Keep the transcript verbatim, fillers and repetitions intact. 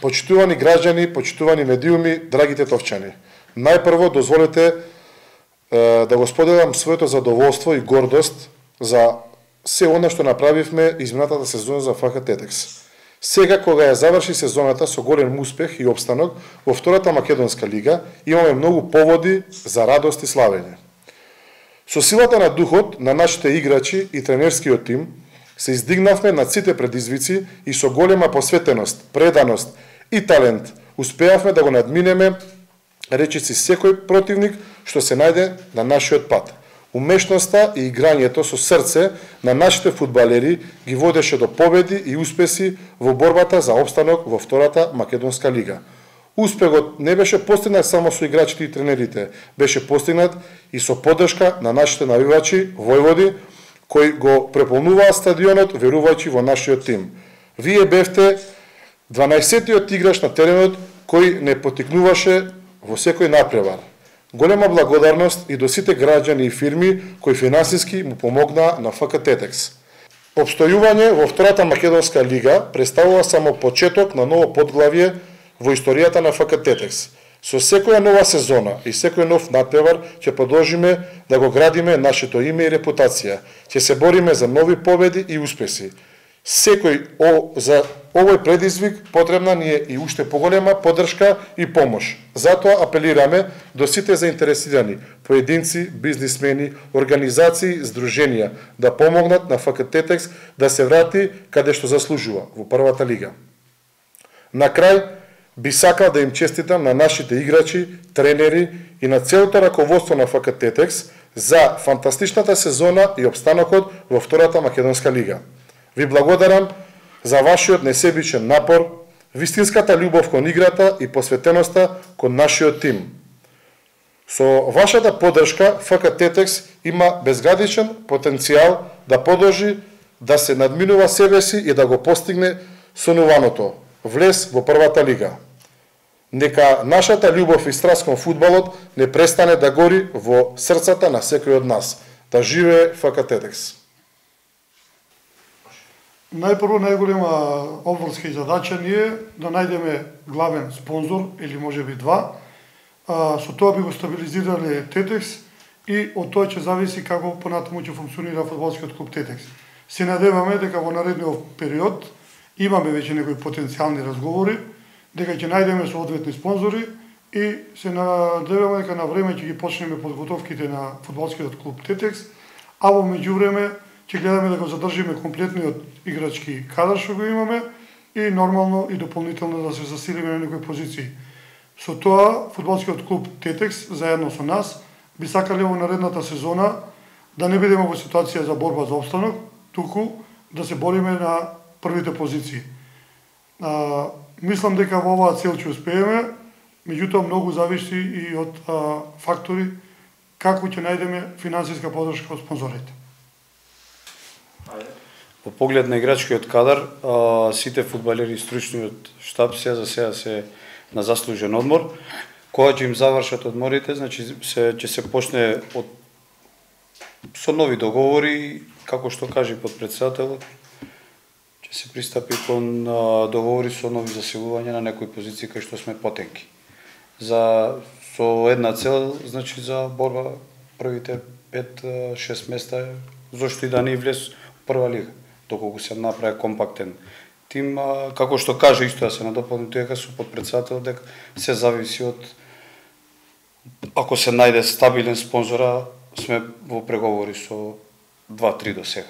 Почитувани граѓани, почитувани медиуми, драги тетовчани. Најпрво дозволете е, да го споделам своето задоволство и гордост за се она што направивме изминатата сезона за ФК Тетекс. Сега, кога ја заврши сезоната со голем успех и обстанок во втората македонска лига, имаме многу поводи за радост и славење. Со силата на духот на нашите играчи и тренерскиот тим, се издигнавме над сите предизвици и со голема посветеност, преданост и талент успеавме да го надминеме речиси секој противник што се најде на нашиот пат. Умешноста и играњето со срце на нашите фудбалери ги водеше до победи и успеси во борбата за опстанок во втората македонска лига. Успехот не беше постигнат само со играчите и тренерите, беше постигнат и со поддршка на нашите навивачи, војводи, кои го преполнуваа стадионот верувајќи во нашиот тим. Вие бевте дванаесеттиот играч на теренот кој не потикнуваше во секој напревар. Голема благодарност и до сите граѓани и фирми кои финансиски му помогнаа на ФК Тетекс. Обстојување во втората македонска лига представува само почеток на ново подглавје во историјата на ФК Тетекс. Со секоја нова сезона и секој нов надпревар ќе продолжиме да го градиме нашето име и репутација. Ќе се бориме за нови победи и успеси. Секој о, за овој предизвик потребна ни е и уште поголема поддршка и помош. Затоа апелираме до сите заинтересирани, поединци, бизнисмени, организации, здруженија да помогнат на ФК Тетекс да се врати каде што заслужува, во првата лига. На крај, би сакал да им честитам на нашите играчи, тренери и на целото раководство на ФК Тетекс за фантастичната сезона и обстанокот во втората македонска лига. Ви благодарам за вашиот несебичен напор, вистинската љубов кон играта и посветеноста кон нашиот тим. Со вашата поддршка ФК Тетекс има безграничен потенцијал да продолжи да се надминува себеси и да го постигне сонуваното влез во првата лига. Нека нашата љубов и страст кон фудбалот не престане да гори во срцата на секој од нас. Да живее ФК Тетекс. Најпрво, најголема обврска и задача ни е да најдеме главен спонзор, или може би два. Со тоа би го стабилизирале Тетекс и од тоа ќе зависи како понатаму ќе функционира фудбалскиот клуб Тетекс. Се надеваме дека во наредниот период имаме веќе некои потенцијални разговори, дека ќе најдеме соодветни спонзори и се надеваме дека на време ќе ги почнеме подготовките на фудбалскиот клуб Тетекс, а во меѓувреме ќе гледаме да го задржиме комплетниот играчки кадар што го имаме и нормално и дополнително да се засилиме на некои позиции. Со тоа, фудбалскиот клуб Тетекс, заедно со нас, би сакале во наредната сезона да не бидеме во ситуација за борба за обстанок, туку да се бориме на првите позиции. А, мислам дека во оваа цел ќе успееме, меѓутоа многу зависи и од а, фактори како ќе најдеме финансиска поддршка од спонзорите. Во поглед на играчкиот кадар, сите фудбалери и стручниот штаб се за сега се на заслужен одмор. Кога ќе им завршат одморите, значи се ќе се почне од со нови договори, како што кажи подпредседателот, ќе се пристапи кон договори со нови засилувања на некои позиции кај што сме потенки. За со една цел, значи за борба првите пет-шест места, зошто и да не влез во прва лига, доколку се направи компактен тим, како што кажа исто да се надополни дека со подпредседател дека се зависи од ако се најде стабилен спонзора, сме во преговори со два-три до сега.